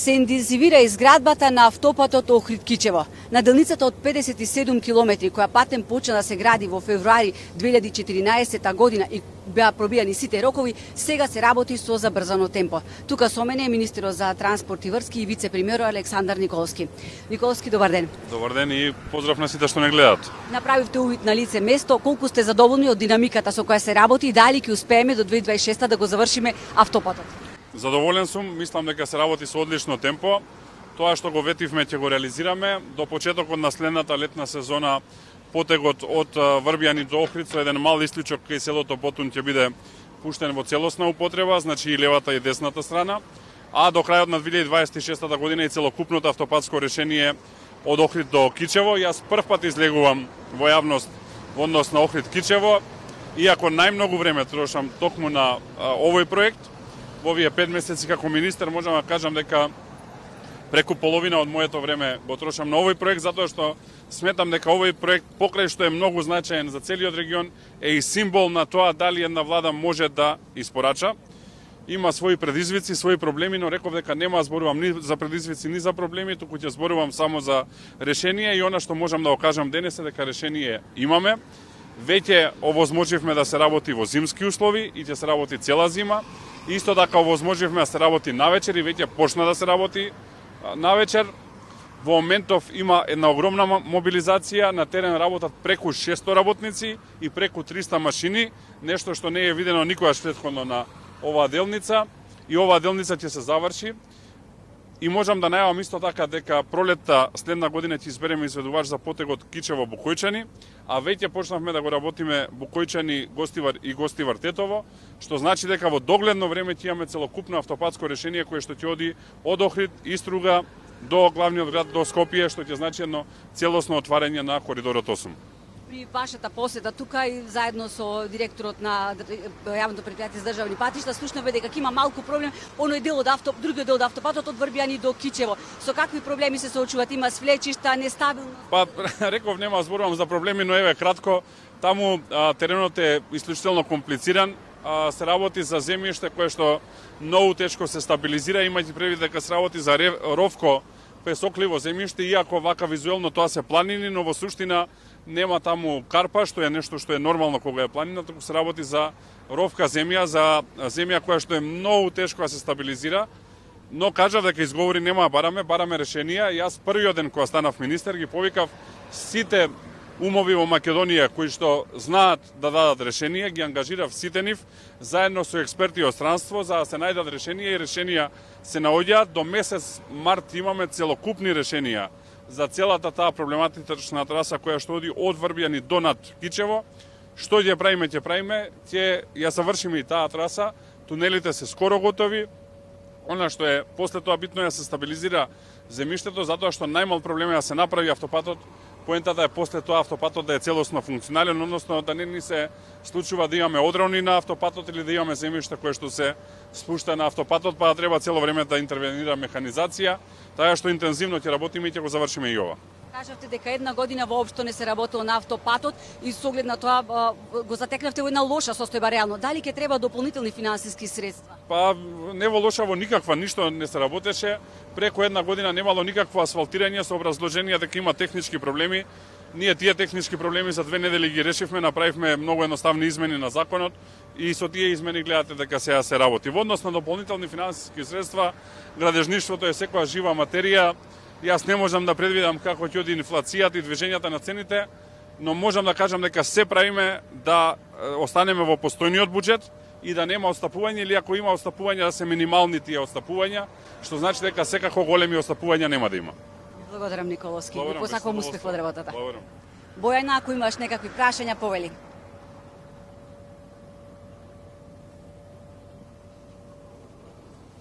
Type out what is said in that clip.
се интензивира изградбата на автопатот Охрид-Кичево. На делницата од 57 километри, која патен почна да се гради во февруари 2014 година и беа пробијани сите рокови, сега се работи со забрзано темпо. Тука со мене е министерот за транспорт и врски и вице-премиерот Александар Николски. Николски, добар ден. Добар ден и поздрав на сите што не гледаат. Направивте увид на лице место, колку сте задоволни од динамиката со која се работи и дали ќе успееме до 2026 да го завршиме автопатот? Задоволен сум, мислам дека се работи со одлично темпо. Тоа што го ветивме ќе го реализираме до почетокот на следната летна сезона. Потегот од Врбјани до Охрид со еден мал исклучок кај селото Потун ќе биде пуштен во целосна употреба, значи и левата и десната страна, а до крајот на 2026 година и целокупното автопатско решение од Охрид до Кичево. Јас прв пат излегувам во јавност во однос на Охрид-Кичево, иако најмногу време трошам токму на овој проект. Во овие 5 месеци како министер можам да кажам дека преку половина од моето време го трошам на овој проект, затоа што сметам дека овој проект, покрај што е многу значаен за целиот регион, е и символ на тоа дали една влада може да испорача. Има своји предизвици, своји проблеми, но реков дека нема да зборувам ни за предизвици, ни за проблеми, туку ќе зборувам само за решение и она што можам да го кажам денес е дека решение имаме. Веќе овозможивме да се работи во зимски услови и ќе се работи цела зима. Исто така овозможивме да се работи навечер и веќе почна да се работи навечер. Во моментов има една огромна мобилизација, на терен работат преку 600 работници и преку 300 машини, нешто што не е видено никогаш претходно на оваа делница, и оваа делница ќе се заврши. И можам да најавам исто така дека пролетта следна година ќе избереме изведувач за потегот Кичево-Букојчани, а веќе почнавме да го работиме Букојчани-Гостивар и Гостивар-Тетово, што значи дека во догледно време ќе имаме целокупно автопатско решение кое што ќе оди од Охрид, Иструга до главниот град, до Скопје, што ќе значи едно целосно отварање на коридорот 8. При вашата посета тука и заедно со директорот на јавното претпријатие за државни патишта слушнавме дека има малку проблем другиот дел од автопатот од Врбјани до Кичево. Со какви проблеми се соочуват? Има свлечишта, нестабилност? Па реков нема зборувам за проблеми, но еве кратко, таму теренот е исклучително комплициран. Се работи за земјиште кое што многу тешко се стабилизира, имајќи предвид дека се работи за ровко песокливо земјиште, иако вака визуелно тоа се планини, но во суштина нема таму карпа, што е нешто што е нормално кога е планина, туку се работи за ровка земја, за земја која што е многу тешко да се стабилизира. Но кажав дека изговори нема да бараме решенија. Јас првиот ден кога станав министер ги повикав сите умови во Македонија кои што знаат да дадат решенија, ги ангажирав сите нив заедно со експерти од странство за да се најдат решенија и решенија се наоѓаат. До месец март имаме целокупни решенија за целата таа проблематична траса која што оди од Врбјани до над Кичево. Што ќе правиме? Ќе ја завршиме и таа траса. Тунелите се скоро готови. Она што е после тоа битно е да се стабилизира земјиштето, затоа што најмал проблем е да се направи автопатот. Поентата е после тоа автопатот да е целосно функционален, односно да не ни се случува да имаме одрони на автопатот или да имаме земјиште кое што се спушта на автопатот, па да треба цело време да интервенира механизација, така што интензивно ќе работиме и ќе го завршиме и ова. Кажавте дека една година воопшто не се работело на автопатот и со оглед на тоа го затекнавте во една лоша состојба реално. Дали ќе треба дополнителни финансиски средства? Па не во лоша, во никаква, ништо не се работеше. Преку една година немало никакво асфалтирање со образложение дека има технички проблеми. Ние тие технички проблеми за 2 недели ги решивме, направивме многу едноставни измени на законот и со тие измени гледате дека сега се работи. Во однос на дополнителни финансиски средства, градежништвото е секоја жива материја. Јас не можам да предвидам како ќе оди инфлацијата и движењата на цените, но можам да кажам дека се правиме да останеме во постојниот буџет и да нема отстапување, или ако има отстапување да се минимални тие отстапувања, што значи дека секако големи отстапувања нема да има. Благодарам, Николовски. Посакувам успех во работата. Благодарам. Бојана, ако имаш некакви прашања, повели.